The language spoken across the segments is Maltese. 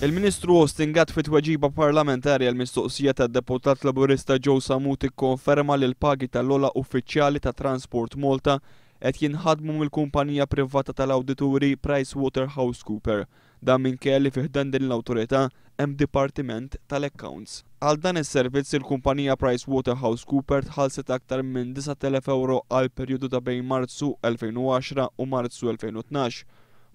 Il-Ministru Austin Gatt fi tweġiba parlamentari għal mistoqsija tad-deputat Laburista Joe Sammut ikkonferma li l-pagi tal-ogħla uffiċjali ta' Transport Malta qed jinħadmu mill-kumpanija privata tal-awdituri PricewaterhouseCooper. Dan minkejja li fi ħdan din l-awtorità hemm dipartiment tal-accounts. Għal dan is-servizz il-kumpanija PricewaterhouseCooper tħallset aktar minn 9,000 ewro għal perjodu ta' bejn Marzu 2010 u Marzu 2012.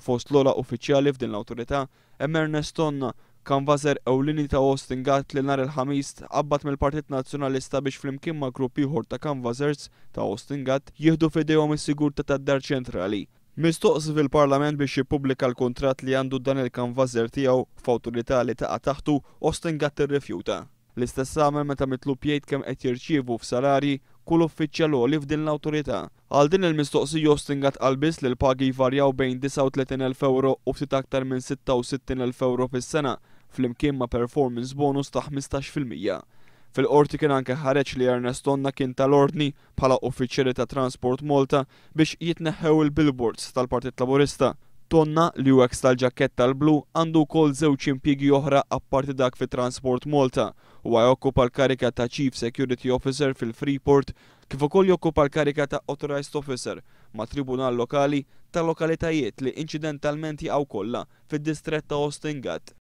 Fost l-ogħla uffiċjali f'din l-awtorità hemm Ernest Tonna, kanvaser ewlieni ta' Austin Gatt li nhar il-Ħamis tqabbad mill-Partit Nazzjonalista biex flimkien ma' grupp ieħor ta' canvassers ta' Austin Gatt jieħdu f'idejhom is-sigurtà tad-Dar Ċentrali. Mistoqsi fil-Parlament biex jippubblika l-kuntratt li għandu dan il-kanvaser tiegħu f'awtorità li taqa' taħtu, Austin Gatt irrifjuta. L-istess għamel meta mitlub jgħid kemm qed jirċievu f'salarji kull uffiċjal għoli f'din l-awtorità. Għal din il-mistoqsija Austin Gatt qal biss li l-pagi jvarjaw bejn 39,000 ewro u ftit aktar minn 66,000 ewro fis-sena, flimkien ma' performance bonus ta' 15%. Fil-qorti kien anke ħareġ li Ernest Tonna kien ta l-ordni bħala uffiċjali ta' Transport Malta biex jitneħħew il-billboards tal-Partit Laburista. Tonna, li hu ex tal-ġakett tal-blu, għandu wkoll żewġ impjiegi oħra apparti dak fi Transport Malta. Huwa jokkupa l-karika ta' Chief Security Officer fil-Freeport kif ukoll jokkupa l-karika ta' Authorized Officer ma' Tribunal Lokali ta' lokalitajiet li inċidentalment jaqgħu kollha fid-distrett ta' Austin Gatt.